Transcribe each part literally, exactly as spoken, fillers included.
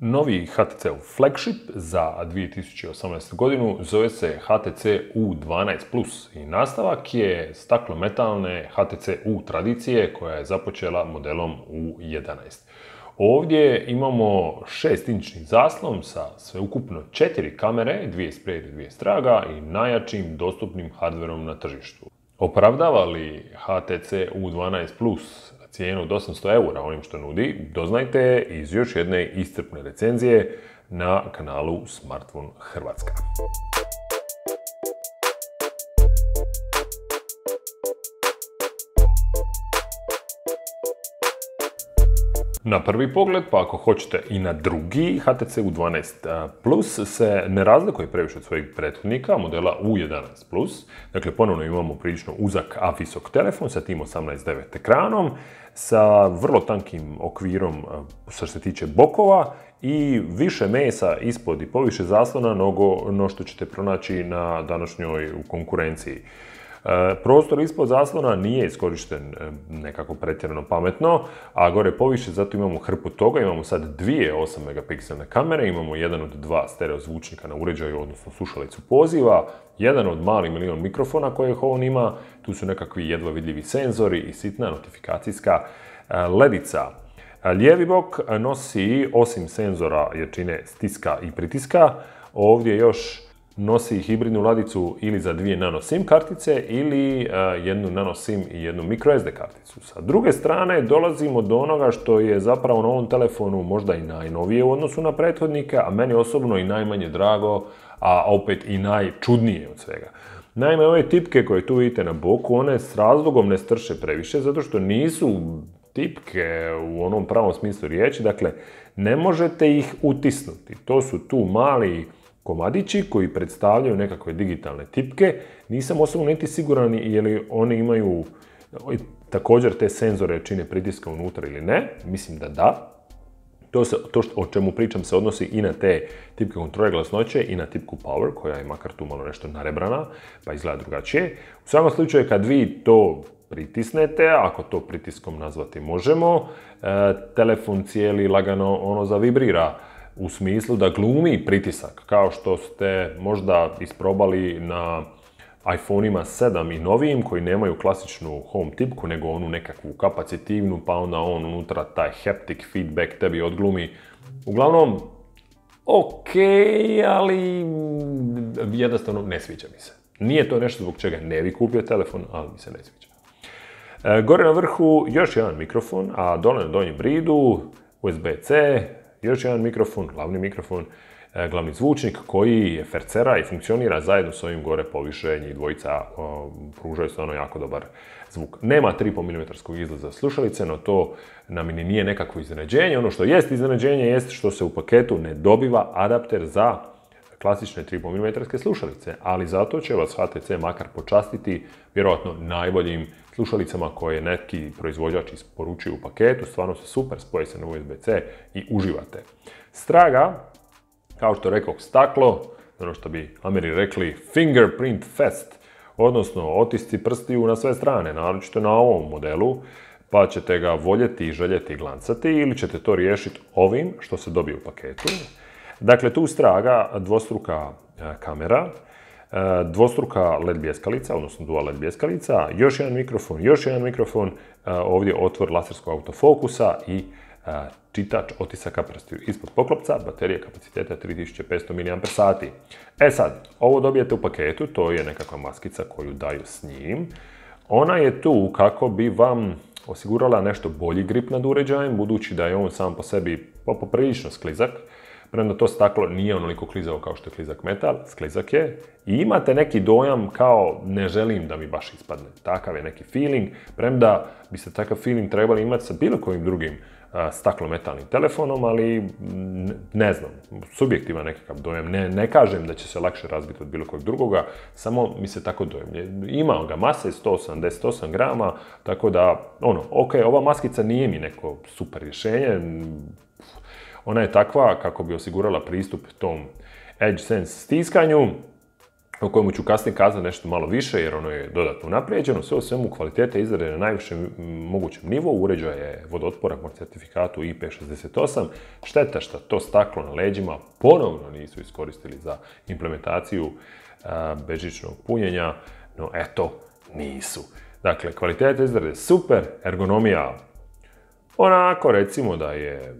Novi H T C-ov flagship za dvije tisuće osamnaestu. godinu zove se H T C U dvanaest plus i nastavak je staklometalne H T C U tradicije koja je započela modelom U jedanaest. Ovdje imamo šest inčni zaslon sa sveukupno četiri kamere, dvije spred i dvije straga i najjačim dostupnim hardverom na tržištu. Opravdava li H T C U dvanaest plus cijenu od osamsto eura onim što nudi, doznajte iz još jedne iscrpne recenzije na kanalu Smartphone Hrvatska. Na prvi pogled, pa ako hoćete i na drugi, H T C U dvanaest plus se ne razlikuje previše od svojih prethodnika, modela U jedanaest plus. Dakle, ponovno imamo prilično uzak, a visok telefon sa tim osamnaest devet ekranom, sa vrlo tankim okvirom što se tiče bokova i više mesa ispod i poviše zaslona nego no što ćete pronaći na današnjoj konkurenciji. Prostor ispod zaslona nije iskorišten nekako pretjerano pametno, a gore poviše zato imamo hrpu toga. Imamo sad dvije osam megapikselne kamere, imamo jedan od dva stereo zvučnika na uređaju, odnosno slušalicu poziva, jedan od mali milion mikrofona kojih on ima, tu su nekakvi jedva vidljivi senzori i sitna notifikacijska ledica. Lijevi bok nosi, osim senzora jačine stiska i pritiska, ovdje još nosi hibridnu ladicu ili za dvije nano SIM kartice ili uh, jednu nano SIM i jednu micro S D karticu. Sa druge strane dolazimo do onoga što je zapravo na ovom telefonu možda i najnovije u odnosu na prethodnike, a meni osobno i najmanje drago, a opet i najčudnije od svega. Naime, ove tipke koje tu vidite na boku, one s razlogom ne strše previše, zato što nisu tipke u onom pravom smislu riječi, dakle ne možete ih utisnuti. To su tu mali komadići koji predstavljaju nekakve digitalne tipke. Nisam osobno niti siguran je li oni imaju također te senzore čine pritiska unutra ili ne. Mislim da da. To, se, to što, o čemu pričam se odnosi i na te tipke kontrole glasnoće i na tipku Power, koja je makar tu malo nešto narebrana, pa izgleda drugačije. U svakom slučaju, kad vi to pritisnete, ako to pritiskom nazvati možemo, telefon cijeli lagano ono zavibrira, u smislu da glumi pritisak, kao što ste možda isprobali na iPhone-ima sedam i novijim, koji nemaju klasičnu home tipku, nego onu nekakvu kapacitivnu, pa onda on unutra taj haptic feedback tebi odglumi. Uglavnom, ok, ali jednostavno ne sviđa mi se. Nije to nešto zbog čega ne bi kupio telefon, ali mi se ne sviđa. E, gore na vrhu još jedan mikrofon, a dole na donjem bridu U S B C, još jedan mikrofon, glavni mikrofon, glavni zvučnik koji fercera i funkcionira zajedno s ovim gore poviše, njih dvojica pružaju stvarno jako dobar zvuk. Nema tri i pol milimetarskog izlaza slušalice, no to nam ni nije nekakvo iznenađenje. Ono što jest iznenađenje jest što se u paketu ne dobiva adapter za klasične tri i pol milimetarske slušalice, ali zato će vas H T C makar počastiti vjerojatno najboljim slušalicama koje neki proizvođač isporučuju u paketu. Stvarno se super, spoje se na U S B C i uživate. Straga, kao što rekao, staklo, ono što bi Ameri rekli fingerprint fest, odnosno otisci prstiju na sve strane, naročito na ovom modelu, pa ćete ga voljeti i željeti glancati ili ćete to riješiti ovim što se dobije u paketu. Dakle, tu straga dvostruka kamera, dvostruka L E D bljeskalica, odnosno dual L E D bljeskalica, još jedan mikrofon, još jedan mikrofon, ovdje otvor laserskog autofokusa i čitač otisaka prstiju ispod poklopca, baterija kapaciteta tri tisuće petsto miliamper sati. E sad, ovo dobijete u paketu, to je nekakva maskica koju daju s njim. Ona je tu kako bi vam osigurala nešto bolji grip nad uređajem, budući da je on sam po sebi poprilično sklizak. Premda to staklo nije onoliko klizavo kao što je klizak metal, sklizak je. I imate neki dojam kao ne želim da mi baš ispadne. Takav je neki feeling, premda biste takav feeling trebali imati sa bilo kojim drugim staklometalnim telefonom, ali ne znam, subjektivan nekakav dojam. Ne, ne kažem da će se lakše razbiti od bilo kojeg drugoga, samo mi se tako dojam. Ima ga mase, sto osamdeset osam grama, tako da, ono, ok, ova maskica nije mi neko super rješenje. Ona je takva kako bi osigurala pristup tom Edge Sense stiskanju. o kojemu ću kasnije kazati nešto malo više jer ono je dodatno unaprijeđeno. Sve u svemu kvalitete izrade na najvišem mogućem nivou, uređaj je vodootporan po certifikatu I P šezdeset osam. Šteta što to staklo na leđima ponovno nisu iskoristili za implementaciju a, bežičnog punjenja, no eto, nisu. Dakle, kvalitete izrade super, ergonomija onako recimo da je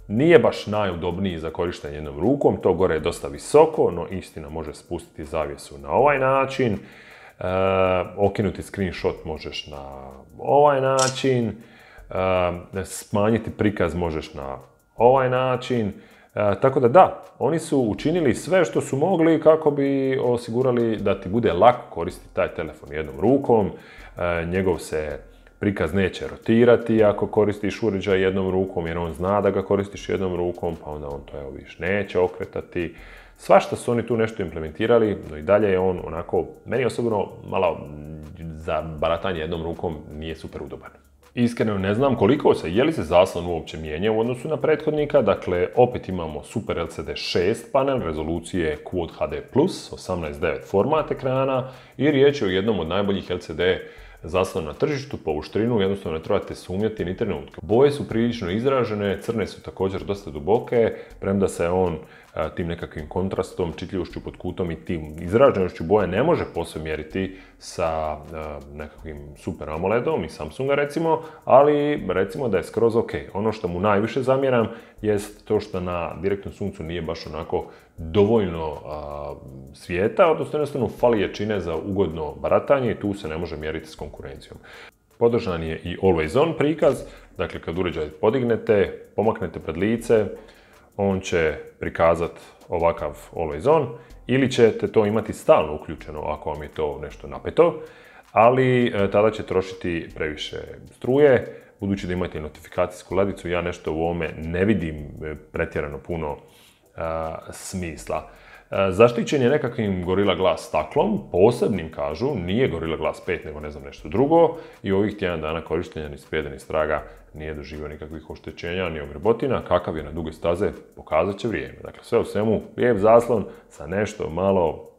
nije baš najudobniji za korištenje jednom rukom, to gore je dosta visoko, no istina može spustiti zavjesu na ovaj način, e, okinuti screenshot možeš na ovaj način, e, smanjiti prikaz možeš na ovaj način, e, tako da da, oni su učinili sve što su mogli kako bi osigurali da ti bude lako koristiti taj telefon jednom rukom, e, njegov se prikaz neće rotirati ako koristiš uređaj jednom rukom, jer on zna da ga koristiš jednom rukom, pa onda on to evo viš neće okretati. Svašta su oni tu nešto implementirali, no i dalje je on onako, meni osobno malo za baratanje jednom rukom nije super udoban. Iskreno ne znam koliko se, je li se zaslon uopće mijenja u odnosu na prethodnika, dakle opet imamo Super L C D šest panel rezolucije Quad H D plus, osamnaest devet format ekrana i riječ je o jednom od najboljih L C D zaslon na tržištu, po uštrinu jednostavno ne trebate sumnjati ni trenutka. Boje su prilično izražene, crne su također dosta duboke, premda se on a, tim nekakvim kontrastom, čitljivošću pod kutom i tim izraženošću boje ne može posve mjeriti sa a, nekakvim Super AMOLEDom i Samsunga recimo, ali recimo da je skroz ok. Ono što mu najviše zamjeram jest to što na direktnom suncu nije baš onako dovoljno a, svijeta, odnosno jednostavno fali jačine za ugodno baratanje i tu se ne može mjeriti s konkurencijom. Podržan je i Always On prikaz, dakle kad uređaj podignete, pomaknete pred lice, on će prikazati ovakav Always On ili ćete to imati stalno uključeno ako vam je to nešto napeto, ali e, tada će trošiti previše struje. Budući da imate notifikacijsku ladicu, ja nešto u ovome ne vidim pretjerano puno a, smisla. A, zaštićen je nekakvim Gorilla Glass staklom, posebnim kažu, nije Gorilla Glass pet nego ne znam nešto drugo i ovih tjedan dana korištenja ni sprijeda ni straga nije doživio nikakvih oštećenja ni ogrebotina, kakav je na duge staze pokazat će vrijeme. Dakle, sve u svemu lijep zaslon sa nešto malo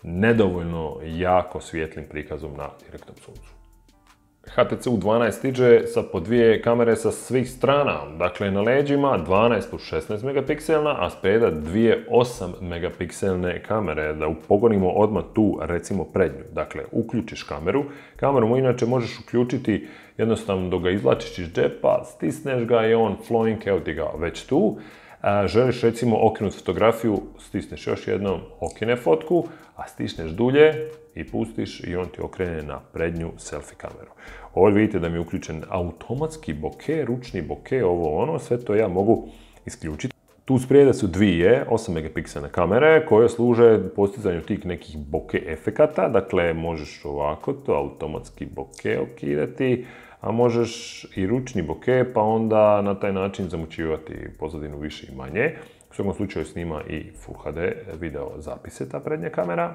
nedovoljno jako svijetlim prikazom na direktnom suncu. H T C U dvanaest stiže sa po dvije kamere sa svih strana, dakle na leđima dvanaest plus šesnaest megapikselna, a spreda dvije osam megapikselne kamere, da upogonimo odmah tu recimo prednju. Dakle, uključiš kameru, kameru mu inače možeš uključiti jednostavno dok ga izvlačiš iz džepa, stisneš ga i on flowing, evo ti ga već tu. A želiš recimo okinuti fotografiju, stisneš još jednom, okine fotku, a stisneš dulje i pustiš i on ti okrene na prednju selfie kameru. Ovdje vidite da mi je uključen automatski bokeh, ručni bokeh, ovo ono, sve to ja mogu isključiti. Tu sprijede su dvije osam megapikselne kamere koje služe postizanju tih nekih bokeh efekata, dakle možeš ovako to automatski bokeh okidati, a možeš i ručni bokeh, pa onda na taj način zamućivati pozadinu više i manje. U svakom slučaju snima i Full H D video zapise ta prednja kamera.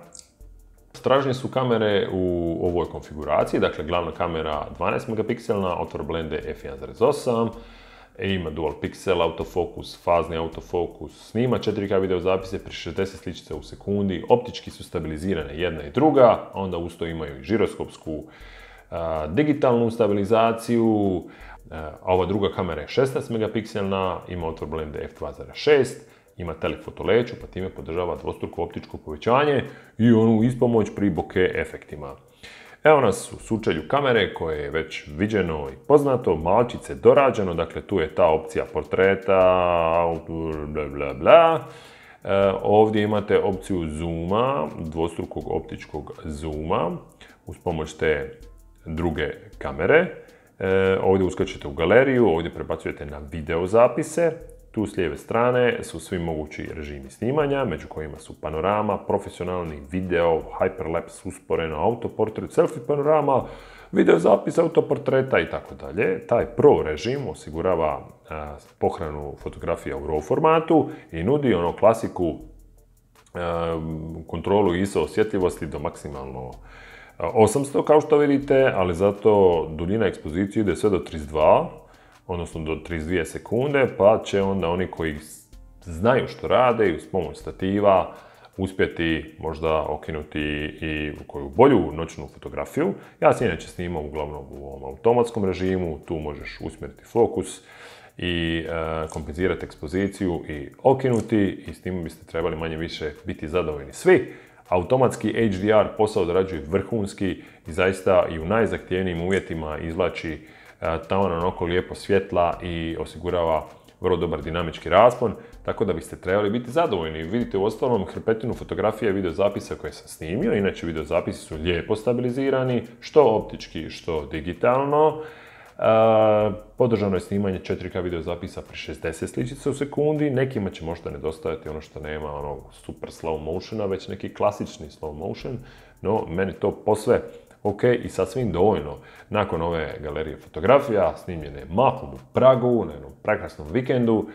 Stražnje su kamere u ovoj konfiguraciji, dakle glavna kamera dvanaest megapikselna, otvor blende f jedan zarez osam, ima dual pixel autofokus, fazni autofokus, snima četiri K video zapise pri šezdeset sličica u sekundi, optički su stabilizirane jedna i druga, onda usto imaju i žiroskopsku a, digitalnu stabilizaciju, a ova druga kamera je šesnaest megapikselna, ima otvor blende f dva zarez šest, ima telefoto leću, pa time podržava dvostruko optičko povećanje i onu ispomoć pri bokeh efektima. Evo nas u sučelju kamere koje je već viđeno i poznato, malčice dorađeno, dakle tu je ta opcija portreta, bla bla bla. E, ovdje imate opciju zooma, dvostrukog optičkog zooma, uz pomoć te druge kamere. E, ovdje uskačete u galeriju, ovdje prebacujete na video zapise. Tu s lijeve strane su svi mogući režimi snimanja, među kojima su panorama, profesionalni video, hyperlapse, usporeno, autoportret, selfie panorama, video zapis autoportreta i tako dalje. Taj Pro režim osigurava a, pohranu fotografija u RAW formatu i nudi ono klasiku a, kontrolu I S O osjetljivosti do maksimalno osamsto kao što vidite, ali zato duljina ekspozicije ide sve do trideset dva, odnosno do trideset dvije sekunde, pa će onda oni koji znaju što rade i uz pomoć stativa uspjeti možda okinuti i koju bolju noćnu fotografiju. Ja se inače snimam uglavnom u ovom automatskom režimu, tu možeš usmjeriti fokus i e, kompenzirati ekspoziciju i okinuti i s tim biste trebali manje više biti zadovoljni svi. Automatski H D R posao odrađuje vrhunski i zaista i u najzahtjevnijim uvjetima izvlači e, taman onako lijepo svjetla i osigurava vrlo dobar dinamički raspon, tako da biste trebali biti zadovoljni. Vidite u ostalom hrpetinu fotografija i videozapisa koje sam snimio, inače videozapisi su lijepo stabilizirani, što optički, što digitalno. E, podržano je snimanje četiri K videozapisa pri šezdeset sličica u sekundi, nekima će možda nedostajati ono što nema onog super slow motiona, već neki klasični slow motion, no meni to posve ok i sasvim dovoljno. Nakon ove galerije fotografija, snimljene mahom u Pragu, na jednom prekrasnom vikendu,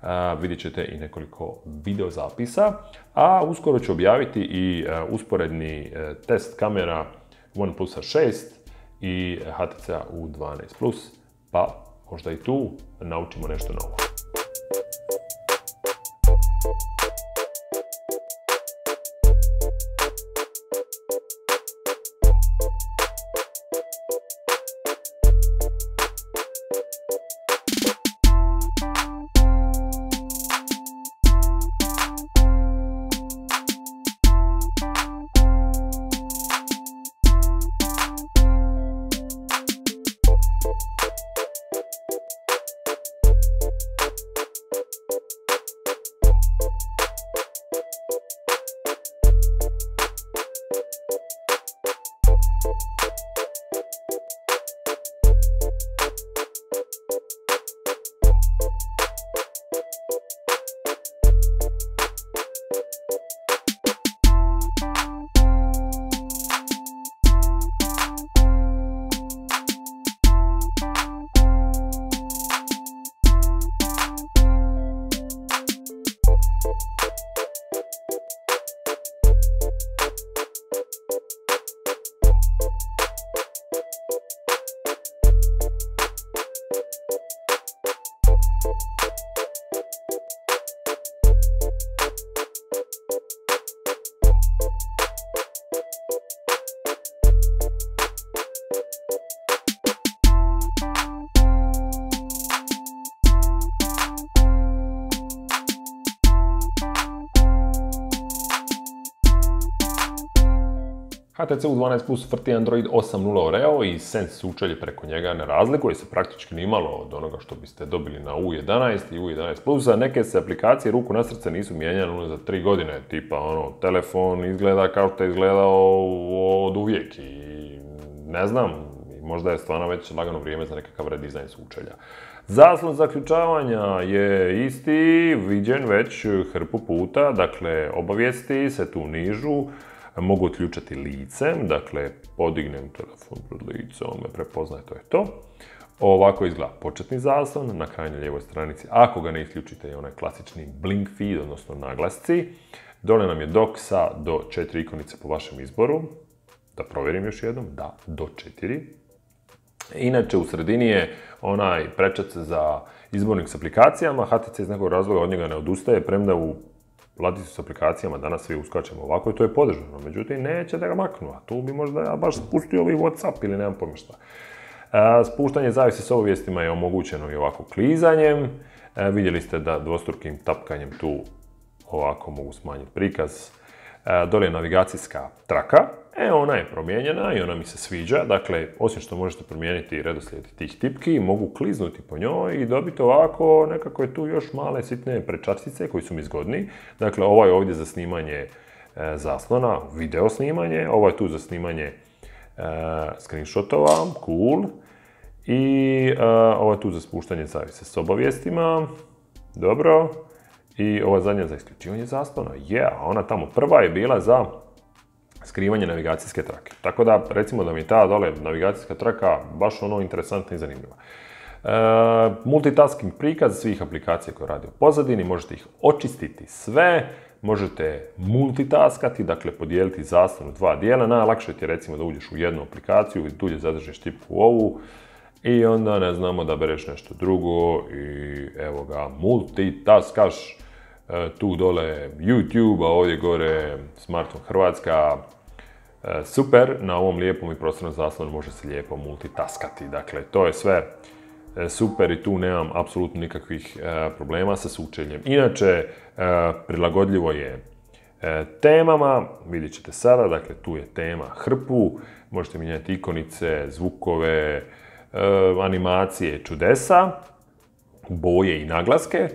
a, vidjet ćete i nekoliko videozapisa, a uskoro ću objaviti i a, usporedni a, test kamera OnePlus šest i H T C U dvanaest plus, pa možda i tu naučimo nešto novo. H T C U dvanaest plus vrti Android osam nula Oreo i Sense sučelje preko njega ne razlikuje se praktički nimalo od onoga što biste dobili na U jedanaest i U jedanaest plus, a neke se aplikacije ruku na srce nisu mijenjane za tri godine, tipa ono, telefon izgleda kao što je izgledao od uvijek i ne znam, možda je stvarno već lagano vrijeme za nekakav redizajn sučelja. Zaslon zaključavanja je isti, viđen već hrpu puta, dakle obavijesti se tu nižu, mogu otključati licem, dakle podignem telefon pred licem, on me prepoznaje, to je to. Ovako izgleda početni zaslon, na krajnjoj lijevoj stranici, ako ga ne isključite, je onaj klasični blink feed, odnosno naglasci. Dole nam je dock sa do četiri ikonice po vašem izboru. Da provjerim još jednom, da, do četiri. Inače, u sredini je onaj prečac za izbornik s aplikacijama. H T C iz nekog razloga od njega ne odustaje, premda u ladicu s aplikacijama danas svi uskačemo ovako i to je podržano. Međutim, neće da ga maknu, a tu bi možda ja baš spustio ovaj WhatsApp ili nemam pojma šta. Spuštanje zavisi s obavijestima je omogućeno i ovako klizanjem. Vidjeli ste da dvostrukim tapkanjem tu ovako mogu smanjiti prikaz. Dole je navigacijska traka. E, ona je promijenjena i ona mi se sviđa. Dakle, osim što možete promijeniti redoslijed tih tipki, mogu kliznuti po njoj i dobiti ovako nekako je tu još male sitne prečačice koji su mi zgodni. Dakle, ovo je ovdje za snimanje e, zaslona, video snimanje. Ovo je tu za snimanje e, screenshotova, cool. I e, ovo je tu za spuštanje zavise s obavijestima. Dobro. I ova zadnja za isključivanje zaslona. Je, yeah, ona tamo prva je bila za skrivanje navigacijske trake. Tako da, recimo da mi ta dole navigacijska traka baš ono interesantna i zanimljiva. E, multitasking prikaz svih aplikacija koje radi u pozadini, možete ih očistiti sve, možete multitaskati, dakle podijeliti zaslon u dva dijela. Najlakše ti je recimo da uđeš u jednu aplikaciju i dulje zadržiš tipku u ovu i onda ne znamo da bereš nešto drugo i evo ga, multitaskaš. tu dole YouTube, a ovdje gore smartphone Hrvatska. Super, na ovom lijepom i prostornom zaslonu može se lijepo multitaskati. Dakle, to je sve super i tu nemam apsolutno nikakvih problema sa sučeljem. Inače, prilagodljivo je temama, vidjet ćete sada, dakle tu je tema hrpu, možete mijenjati ikonice, zvukove, animacije, čudesa, boje i naglaske.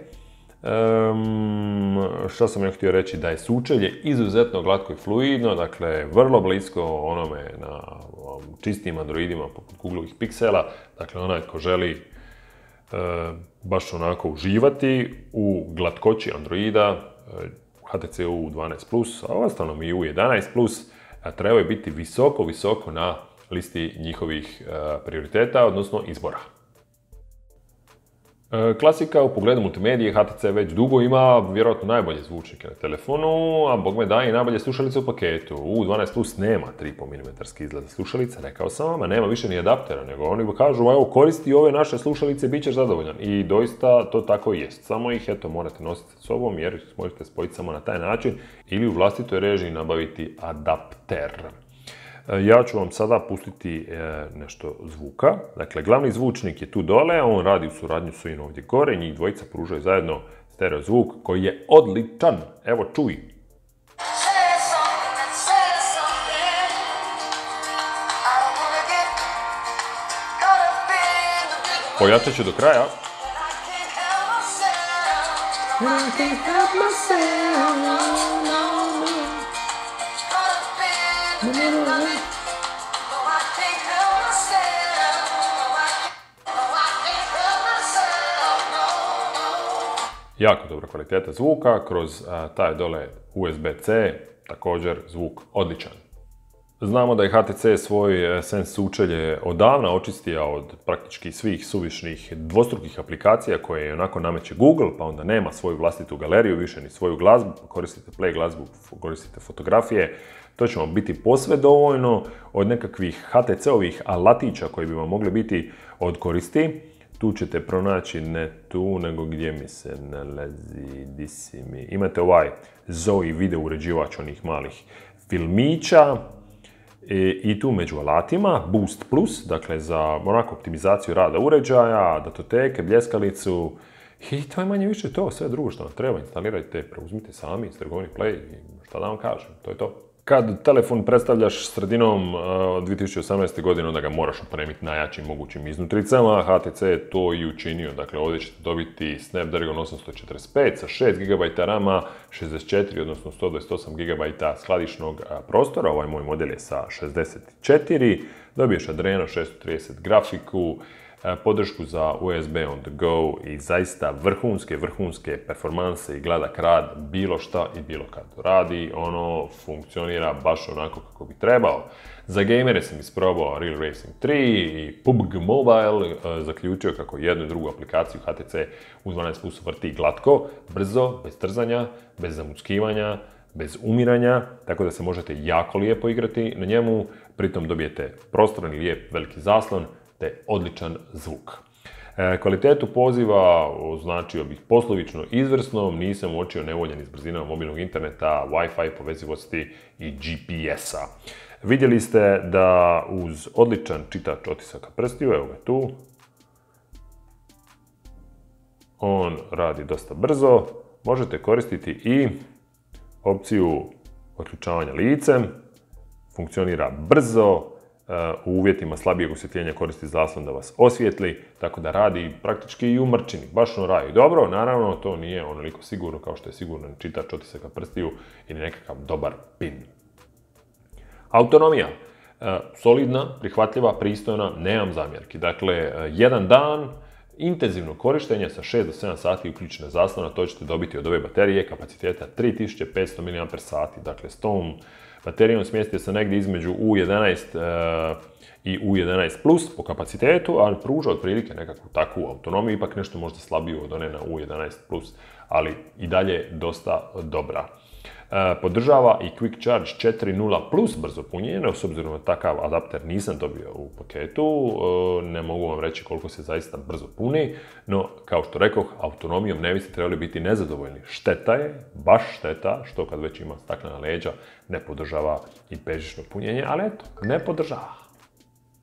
Um, što sam ja htio reći, da je sučelje izuzetno glatko i fluidno, dakle vrlo blisko onome na čistim Androidima poput Googlovih Pixela, dakle onaj ko želi uh, baš onako uživati u glatkoći Androida, uh, H T C U dvanaest plus, a ostalo i U jedanaest plus, trebaju biti visoko, visoko na listi njihovih uh, prioriteta, odnosno izbora. Klasika u pogledu multimedije, H T C već dugo ima vjerojatno najbolje zvučnike na telefonu, a bog me da i najbolje slušalice u paketu. U dvanaest plus nema tri i pol milimetarski izgled slušalice, rekao sam vam, a nema više ni adaptera, nego oni kažu, evo koristi ove naše slušalice, bit ćeš zadovoljan. I doista to tako i jest. Samo ih eto morate nositi sa sobom jer možete spojiti samo na taj način ili u vlastitoj režiji nabaviti adapter. Ja ću vam sada pustiti nešto zvuka. Dakle, glavni zvučnik je tu dole, on radi u suradnju s ovim ovdje gore, njih dvojica pružaju zajedno stereo zvuk koji je odličan. Evo, čuj. Pojačat ću do kraja. Jako dobra kvaliteta zvuka, kroz a, taj dole U S B C, također zvuk odličan. Znamo da je H T C svoj Sense sučelje odavna očistio od praktički svih suvišnih dvostrukih aplikacija koje onako nameće Google, pa onda nema svoju vlastitu galeriju, više ni svoju glazbu, koristite Play glazbu, koristite fotografije. To će vam biti posve dovoljno od nekakvih H T C-ovih alatića koji bi vam mogli biti od koristi. Tu ćete pronaći ne tu, nego gdje mi se nalazi, di si mi. Imate ovaj Zoe video uređivač onih malih filmića i, i tu među alatima Boost Plus, dakle za onako optimizaciju rada uređaja, datoteke, bljeskalicu i to je manje više to, sve drugo što vam treba instalirajte, preuzmite sami iz trgovine Play i šta da vam kažem, to je to. Kad telefon predstavljaš sredinom uh, dvije tisuće osamnaeste. godine, onda ga moraš opremiti najjačim mogućim iznutricama. H T C je to i učinio. Dakle, ovdje ćete dobiti Snapdragon osamsto četrdeset pet sa šest giga rama, šezdeset četiri, odnosno sto dvadeset osam giga skladišnog uh, prostora. Ovaj moj model je sa šezdeset četiri. Dobiješ Adreno šesto trideset grafiku, podršku za U S B on the go i zaista vrhunske, vrhunske performanse i gladak rad, bilo šta i bilo kad radi, ono funkcionira baš onako kako bi trebao. Za gamere sam isprobao Real Racing tri i P U B G Mobile, zaključio kako jednu i drugu aplikaciju H T C u dvanaest plus vrti glatko, brzo, bez trzanja, bez zamuckivanja, bez umiranja, tako da se možete jako lijepo igrati na njemu, pritom dobijete prostoran i lijep veliki zaslon, te odličan zvuk. E, kvalitetu poziva označio bih poslovično izvrsnom, nisam uočio nevoljen s brzinom mobilnog interneta, Wi-Fi povezivosti i G P S-a. Vidjeli ste da uz odličan čitač otisaka prstiju, evo ga tu, on radi dosta brzo, možete koristiti i opciju otključavanja licem, funkcionira brzo, u uvjetima slabijeg osvjetljenja koristi zaslon da vas osvijetli, tako da radi praktički i u mrčini. Baš ono radi dobro, naravno to nije onoliko sigurno kao što je siguran čitač otisaka prstiju ili nekakav dobar pin. Autonomija. Solidna, prihvatljiva, pristojna, nemam zamjerki. Dakle, jedan dan intenzivno korištenje sa šest do sedam sati uključene zaslona, to ćete dobiti od ove baterije kapaciteta tri tisuće petsto miliampere sati. Dakle, s tom baterijom smjestio se negdje između U jedanaest uh, i U jedanaest plus po kapacitetu, ali pruža otprilike nekakvu takvu autonomiju, ipak nešto možda slabiju od one na U jedanaest plus, ali i dalje dosta dobra. Podržava i Quick Charge četiri nula plus brzo punjenje, no s obzirom na takav adapter nisam dobio u paketu, ne mogu vam reći koliko se zaista brzo puni, no kao što rekoh, autonomijom ne biste trebali biti nezadovoljni. Šteta je, baš šteta, što kad već ima staklena leđa ne podržava i bežično punjenje, ali eto, ne podržava.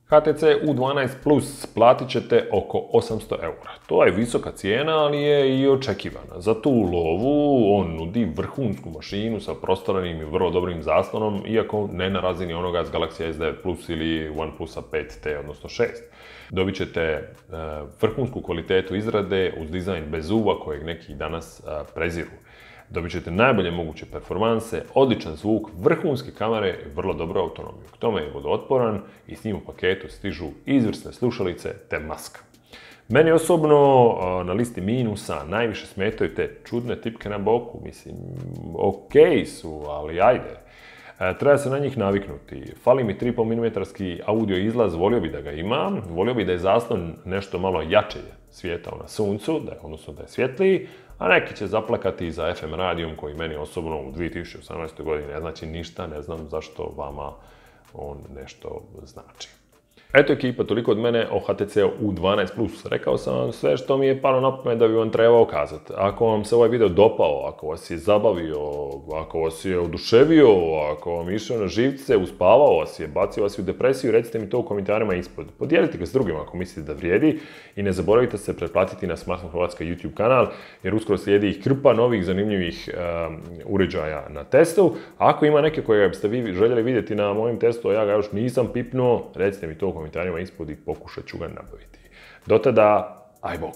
H T C U dvanaest plus platit ćete oko osamsto eura. To je visoka cijena, ali je i očekivana. Za tu lovu on nudi vrhunsku mašinu sa prostoranim i vrlo dobrim zaslonom, iako ne na razini onoga s Galaxy S devet plus ili OnePlusa pet T, odnosno šest. Dobit ćete vrhunsku kvalitetu izrade uz dizajn bez zuba kojeg neki danas preziru. Dobit ćete najbolje moguće performanse, odličan zvuk, vrhunske kamere i vrlo dobru autonomiju. K tome je vodootporan i s njim u paketu stižu izvrsne slušalice te maska. Meni osobno na listi minusa najviše smetaju te čudne tipke na boku. Mislim, okej su, ali ajde. Treba se na njih naviknuti. Fali mi tri i pol milimetarski audio izlaz, volio bi da ga ima. Volio bi da je zaslon nešto malo jače svijetao na suncu, da je, odnosno da je svjetliji, a neki će zaplakati za F M radijom koji meni osobno u dvije tisuće osamnaestoj godini ne znači ništa, ne znam zašto vama on nešto znači. Eto ekipa, toliko od mene o H T C U dvanaest plus. Rekao sam vam sve što mi je palo na pamet da bi vam trebao kazati. Ako vam se ovaj video dopao, ako vas je zabavio, ako vas je oduševio, ako vam je išao na živce, uspavao vas je, bacio vas u depresiju, recite mi to u komentarima ispod. Podijelite ga s drugima ako mislite da vrijedi i ne zaboravite se pretplatiti na Smartphone Hrvatska YouTube kanal jer uskoro slijedi ih hrpa novih zanimljivih um, uređaja na testu. Ako ima neke koje biste vi željeli vidjeti na mojem testu, a ja ga još nisam pipnuo, recite mi to u komentarima ispod i pokušat ću ga nabaviti. Do tada, aj bok!